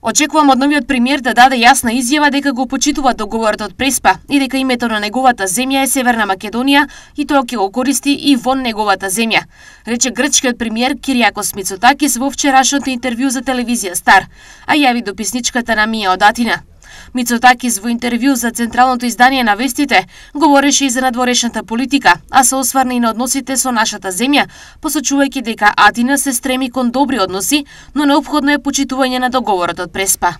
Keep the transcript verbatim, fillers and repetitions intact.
Очекувам од новиот премиер да даде јасна изјава дека го почитува договорот од Преспа и дека името на неговата земја е Северна Македонија и тоа ќе го користи и во неговата земја, рече грчкиот премиер Кириакос Мицотакис во вчерашното интервју за телевизија Стар, а јави дописничката Намија од Атина. Мицотакис во интервју за централното издание на Вестите говореше и за надворешната политика, а се осврна и на односите со нашата земја, посочувајќи дека Атина се стреми кон добри односи, но неопходно е почитување на договорот од Преспа.